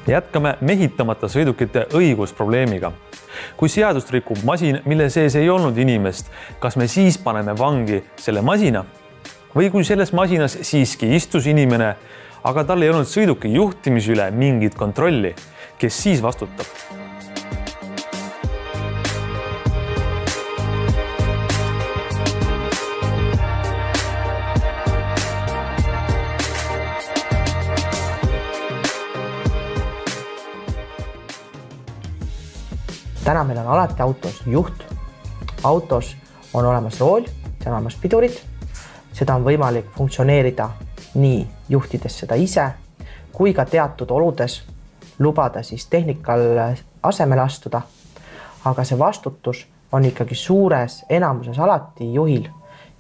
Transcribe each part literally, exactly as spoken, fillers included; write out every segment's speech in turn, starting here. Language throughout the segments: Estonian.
Jätkame mehitamata sõidukite õigusprobleemiga. Kui seadust rikub masin, mille sees ei olnud inimest, kas me siis paneme vangi selle masina? Või kui selles masinas siiski istus inimene, aga tal ei olnud sõiduki juhtimise üle mingit kontrolli, kes siis vastutab? Täna meil on alati autos juht. Autos on olemas rool, see on olemas pidurid. Seda on võimalik funktsioneerida nii juhtides seda ise, kui ka teatud oludes lubada siis tehnikal asemele astuda. Aga see vastutus on ikkagi suures enamuses alati juhil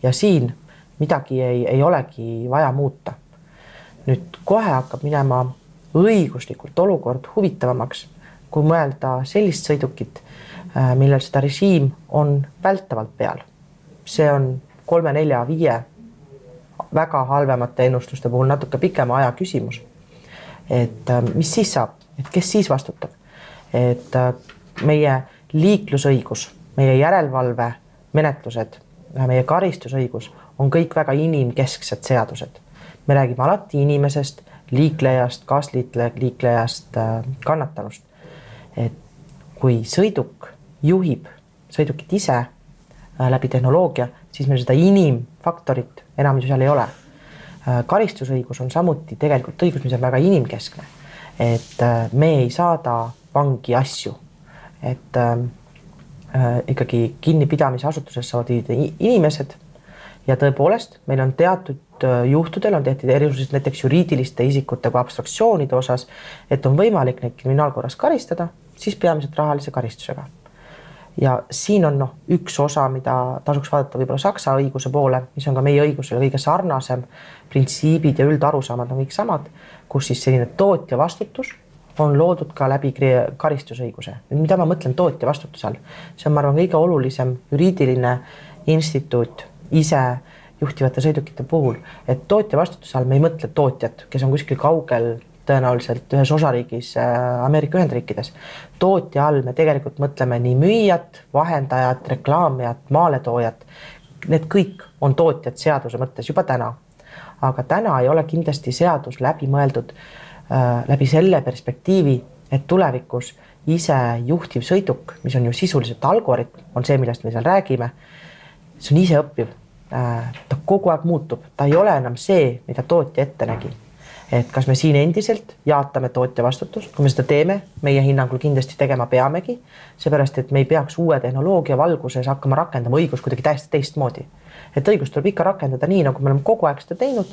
ja siin midagi ei, ei olegi vaja muuta. Nüüd kohe hakkab minema õiguslikult olukord huvitavamaks, kui mõelda sellist sõidukit, millel seda režiim on vältavalt peal. See on kolme, nelja, viie väga halvemate ennustuste puhul natuke pikema aja küsimus. Et mis siis saab? Et kes siis vastutab? Et meie liiklusõigus, meie järelevalve menetlused, meie karistusõigus on kõik väga inimkesksed seadused. Me räägime alati inimesest, liiklejast, kaasliiklejast, kannatanust. Et kui sõiduk juhib sõidukit ise läbi tehnoloogia, siis meil seda inimfaktorit enam ju seal ei ole. Karistusõigus on samuti tegelikult õigus, mis on väga inimkeskne. Et me ei saada vangi asju. Et äh, ikkagi kinnipidamise asutuses saavad inimesed ja tõepoolest meil on teatud juhtudel on tehtud erisused näiteks juriidiliste isikute kui abstraktsioonide osas, et on võimalik neid kriminaalkorras karistada, siis peamiselt rahalise karistusega. Ja siin on no, üks osa, mida tasuks vaadata võib-olla saksa õiguse poole, mis on ka meie õigusele kõige sarnasem, printsiibid ja üldarusaamad on kõik samad, kus siis selline tootja vastutus on loodud ka läbi karistusõiguse. Mida ma mõtlen tootja vastutuse all? See on, ma arvan, kõige olulisem juriidiline instituut ise juhtivate sõidukite puhul, et tootja vastutuse all me ei mõtle tootjat, kes on kuskil kaugel tõenäoliselt ühes osariigis Ameerika Ühendriikides. Tootja all me tegelikult mõtleme nii müüjat, vahendajat, reklaamijat, maaletoojat. Need kõik on tootjad seaduse mõttes juba täna. Aga täna ei ole kindlasti seadus läbi mõeldud äh, läbi selle perspektiivi, et tulevikus ise juhtiv sõiduk, mis on ju sisuliselt algoritm, on see, millest me seal räägime, see on ise õppiv. Äh, ta kogu aeg muutub. Ta ei ole enam see, mida tootja ette nägi. Et kas me siin endiselt jaatame tootja vastutust, kui me seda teeme, meie hinnangul kindlasti tegema peamegi, seepärast, et me ei peaks uue tehnoloogia valguses hakkama rakendama õigus kuidagi täiesti teistmoodi. Et õigus tuleb ikka rakendada nii, nagu me oleme kogu aeg seda teinud,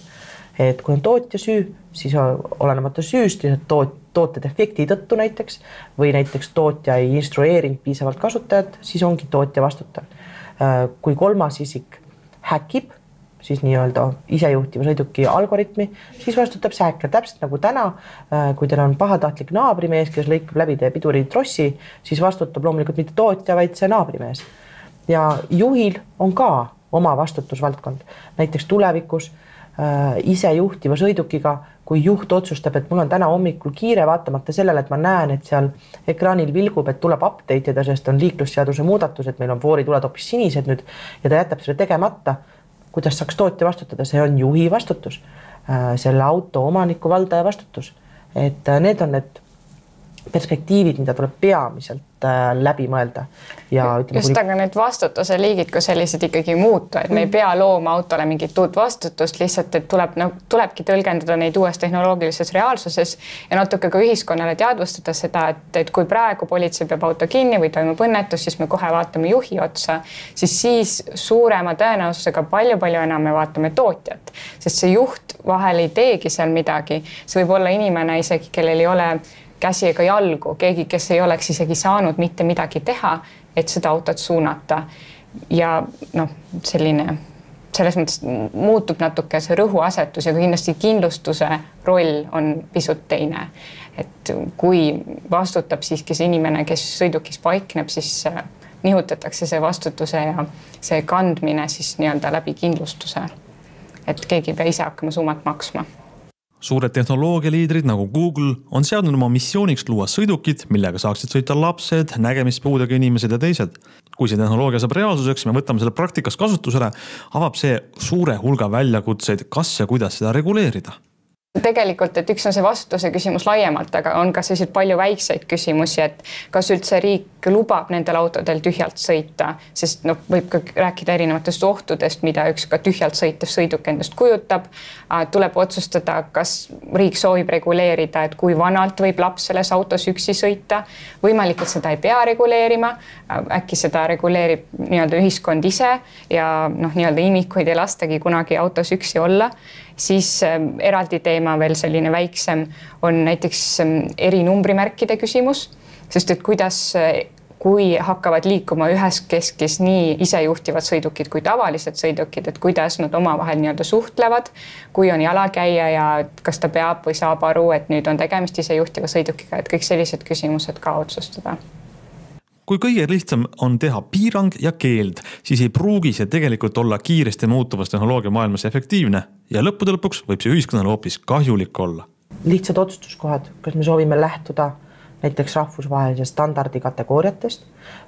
et kui on tootja süü, siis olenemata süüst, toot, toote defekti tõttu näiteks, või näiteks tootja ei instrueerinud piisavalt kasutajat, siis ongi tootja vastutav. Kui kolmas isik häkib, siis nii-öelda isejuhtiva sõiduki algoritmi, siis vastutab see häkker täpselt nagu täna, kui teil on pahatahtlik naabrimees, kes lõikab läbi teie piduri trossi, siis vastutab loomulikult mitte tootja, vaid see naabrimees. Ja juhil on ka oma vastutusvaldkond. Näiteks tulevikus äh, isejuhtiva sõidukiga, kui juht otsustab, et mul on täna hommikul kiire vaatamata sellele, et ma näen, et seal ekraanil vilgub, et tuleb update ida, sest on liiklusseaduse muudatus, et meil on voorituled hoopis sinised nüüd ja ta jätab selle tegemata, kuidas saaks tootja vastutada, see on juhi vastutus, selle auto omaniku valdaja vastutus. Et need on need perspektiivid, mida tuleb peamiselt läbi mõelda. Ja ütleme, just, aga need vastutuse liigid, kui sellised ikkagi muutu, et me ei pea looma autole mingit uut vastutust, lihtsalt, et tuleb, no, tulebki tõlgendada neid uues tehnoloogilises reaalsuses ja natuke ka ühiskonnale teadvustada seda, et, et kui praegu politsei peab auto kinni või toimub õnnetus, siis me kohe vaatame juhi otsa, siis siis suurema tõenäosusega palju-palju enam me vaatame tootjat, sest see juht vahel ei teegi seal midagi. See võib olla inimene isegi, kellel ei ole käsi ega jalgu, keegi, kes ei oleks isegi saanud mitte midagi teha, et seda autot suunata. Ja noh, selline, selles mõttes muutub natuke see rõhuasetus ja kindlasti kindlustuse roll on pisut teine. Et kui vastutab siiski see inimene, kes sõidukis paikneb, siis nihutatakse see vastutuse ja see kandmine siis nii-öelda läbi kindlustuse. Et keegi ei pea ise hakkama summat maksma. Suured tehnoloogialiidrid nagu Google on seadnud oma missiooniks luua sõidukid, millega saaksid sõita lapsed, nägemispuudega inimesed ja teised. Kui see tehnoloogia saab reaalsuseks, me võtame selle praktikas kasutusele, avab see suure hulga väljakutseid, kas ja kuidas seda reguleerida. Tegelikult, et üks on see vastutuse küsimus laiemalt, aga on ka selliseid palju väikseid küsimusi, et kas üldse riik lubab nendel autodel tühjalt sõita, sest no, võib ka rääkida erinevatest ohtudest, mida üks ka tühjalt sõitev sõiduk endast kujutab. Tuleb otsustada, kas riik soovib reguleerida, et kui vanalt võib laps selles autos üksi sõita. Võimalik, et seda ei pea reguleerima. Äkki seda reguleerib nii-öelda ühiskond ise ja noh, nii-öelda imikuid ei lastagi kunagi autos üksi olla. Siis eraldi teema veel selline väiksem on näiteks eri numbrimärkide küsimus, sest et kuidas, kui hakkavad liikuma ühes keskis nii isejuhtivad sõidukid kui tavalised sõidukid, et kuidas nad omavahel nii-öelda suhtlevad, kui on jalakäija ja kas ta peab või saab aru, et nüüd on tegemist isejuhtiva sõidukiga, et kõik sellised küsimused ka otsustada. Kui kõige lihtsam on teha piirang ja keeld, siis ei pruugi see tegelikult olla kiiresti muutuvas tehnoloogia maailmas efektiivne ja lõppude lõpuks võib see ühiskonnale hoopis kahjulik olla. Lihtsad otsustuskohad, kas me soovime lähtuda näiteks rahvusvahelise standardi kategooriatest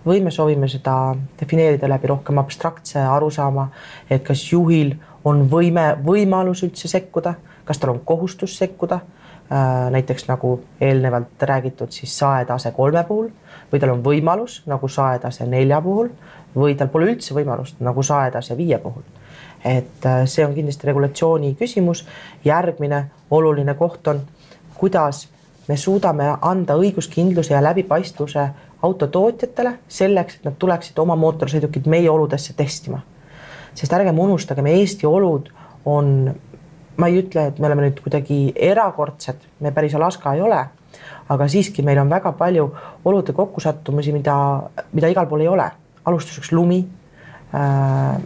või me soovime seda defineerida läbi rohkem abstraktse arusaama, et kas juhil on võime, võimalus üldse sekkuda, kas tal on kohustus sekkuda, näiteks nagu eelnevalt räägitud siis saetase kolme puhul või tal on võimalus nagu saetase nelja puhul või tal pole üldse võimalust nagu saetase viie puhul. Et see on kindlasti regulatsiooni küsimus. Järgmine oluline koht on, kuidas me suudame anda õiguskindluse ja läbipaistvuse autotootjatele selleks, et nad tuleksid oma mootorsõidukid meie oludesse testima. Sest ärgem unustagem, Eesti olud on, ma ei ütle, et me oleme nüüd kuidagi erakordsed, me päris Alaska ei ole, aga siiski meil on väga palju olude kokkusattumusi, mida, mida igal pool ei ole. Alustuseks lumi,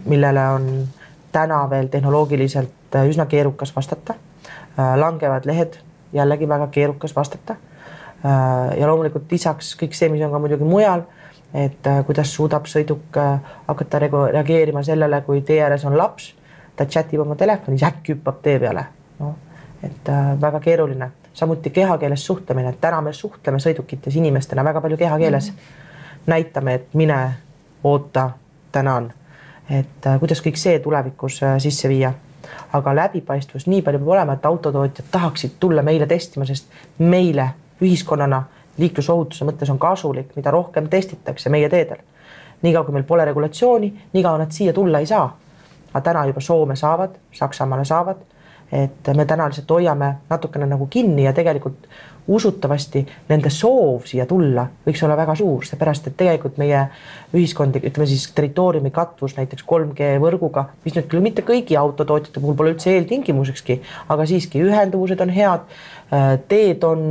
millele on täna veel tehnoloogiliselt üsna keerukas vastata. Langevad lehed, jällegi väga keerukas vastata. Ja loomulikult lisaks kõik see, mis on ka muidugi mujal, et kuidas suudab sõiduk hakata reageerima sellele, kui tee ääres on laps, ta chatib oma telefonis, äkki hüppab tee peale. No, et väga keeruline. Samuti kehakeeles suhtlemine. Täna me suhtleme sõidukites inimestena väga palju kehakeeles. Mm-hmm. Näitame, et mine, oota, tänan. Et kuidas kõik see tulevikus sisse viia. Aga läbipaistvus nii palju peab olema, et autotootjad tahaksid tulla meile testima, sest meile ühiskonnana liiklusohutuse mõttes on kasulik, mida rohkem testitakse meie teedel. Niikaua kui meil pole regulatsiooni, niikaua nad siia tulla ei saa. Aga täna juba Soome saavad, Saksamaale saavad, et me täna lihtsalt hoiame natukene nagu kinni ja tegelikult usutavasti nende soov siia tulla võiks olla väga suur, seepärast, et tegelikult meie ühiskondi, ütleme siis territooriumi katvus näiteks kolm G võrguga, mis nüüd küll mitte kõigi autotootjate puhul pole üldse eeltingimusekski, aga siiski ühenduvused on head, teed on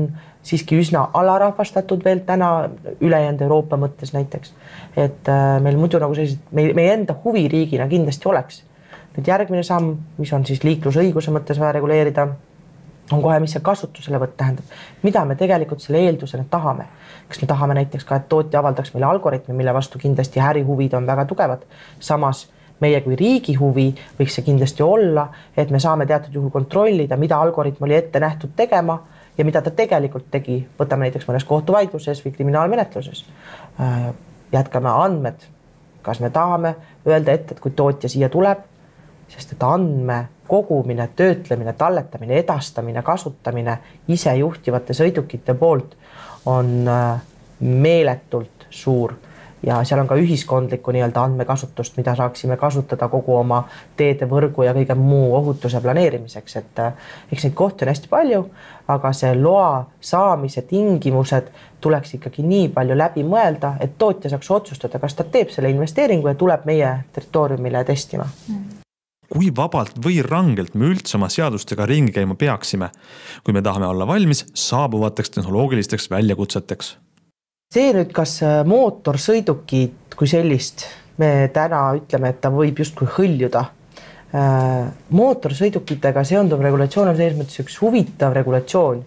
siiski üsna alarahvastatud veel täna ülejäänud Euroopa mõttes näiteks, et meil muidu nagu sellised, meie enda huviriigina kindlasti oleks. Nüüd järgmine samm, mis on siis liiklusõiguse mõttes vaja reguleerida, on kohe, mis see kasutuselevõtt tähendab. Mida me tegelikult selle eeldusena tahame? Kas me tahame näiteks ka, et tootja avaldaks meile algoritmi, mille vastu kindlasti ärihuvid on väga tugevad. Samas meie kui riigi huvi võiks see kindlasti olla, et me saame teatud juhul kontrollida, mida algoritm oli ette nähtud tegema ja mida ta tegelikult tegi. Võtame näiteks mõnes kohtuvaidluses või kriminaalmenetluses. Jätkame andmed. Kas me tahame öelda ette, et kui tootja siia tuleb, sest et andme kogumine, töötlemine, talletamine, edastamine, kasutamine ise juhtivate sõidukite poolt on meeletult suur ja seal on ka ühiskondlikku nii-öelda andmekasutust, mida saaksime kasutada kogu oma teede võrgu ja kõige muu ohutuse planeerimiseks, et eks neid kohti on hästi palju, aga see loa saamise tingimused tuleks ikkagi nii palju läbi mõelda, et tootja saaks otsustada, kas ta teeb selle investeeringu ja tuleb meie territooriumile testima. Kui vabalt või rangelt me üldse oma seadustega ringi käima peaksime, kui me tahame olla valmis saabuvateks tehnoloogilisteks väljakutseteks? See nüüd, kas mootorsõidukid kui sellist, me täna ütleme, et ta võib justkui hõljuda. Mootorsõidukitega seonduv regulatsioon on selles mõttes üks huvitav regulatsioon,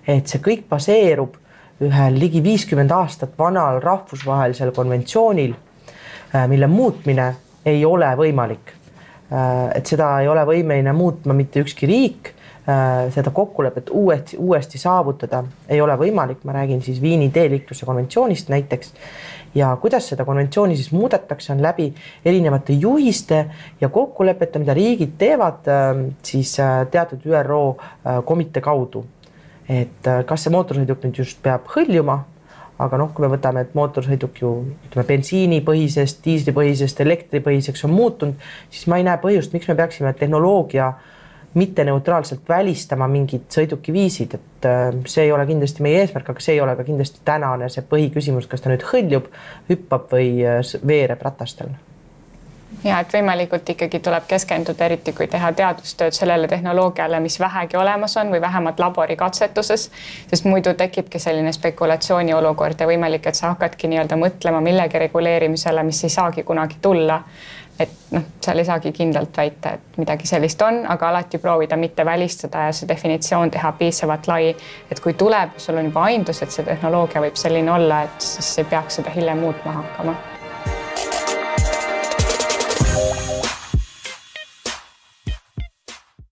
et see kõik baseerub ühel ligi viiskümmend aastat vanal rahvusvahelisel konventsioonil, mille muutmine ei ole võimalik. Et seda ei ole võimeline muutma mitte ükski riik, seda kokkulepet uuesti, uuesti saavutada ei ole võimalik. Ma räägin siis Viini teeliikluse konventsioonist näiteks ja kuidas seda konventsiooni siis muudetakse on läbi erinevate juhiste ja kokkulepete, mida riigid teevad siis teatud Ü R O komitee kaudu. Et kas see mootorsõiduk nüüd just peab hõljuma, aga noh, kui me võtame, et mootorsõiduk ju ütleme, bensiinipõhisest, diislipõhisest, elektripõhiseks on muutunud, siis ma ei näe põhjust, miks me peaksime tehnoloogia mitte neutraalselt välistama mingid sõidukiviisid, et see ei ole kindlasti meie eesmärk, aga see ei ole ka kindlasti tänane see põhiküsimus, kas ta nüüd hõljub, hüppab või veereb ratastel. Ja, et võimalikult ikkagi tuleb keskenduda, eriti kui teha teadustööd sellele tehnoloogiale, mis vähegi olemas on või vähemalt laborikatsetuses, sest muidu tekibki selline spekulatsiooni olukord ja võimalik, et sa hakkadki nii-öelda mõtlema millegi reguleerimisele, mis ei saagi kunagi tulla. Et noh, seal ei saagi kindlalt väita, et midagi sellist on, aga alati proovida mitte välistada ja see definitsioon teha piisavalt lai, et kui tuleb, sul on juba aindus, et see tehnoloogia võib selline olla, et siis ei peaks seda hiljem muutma hakkama.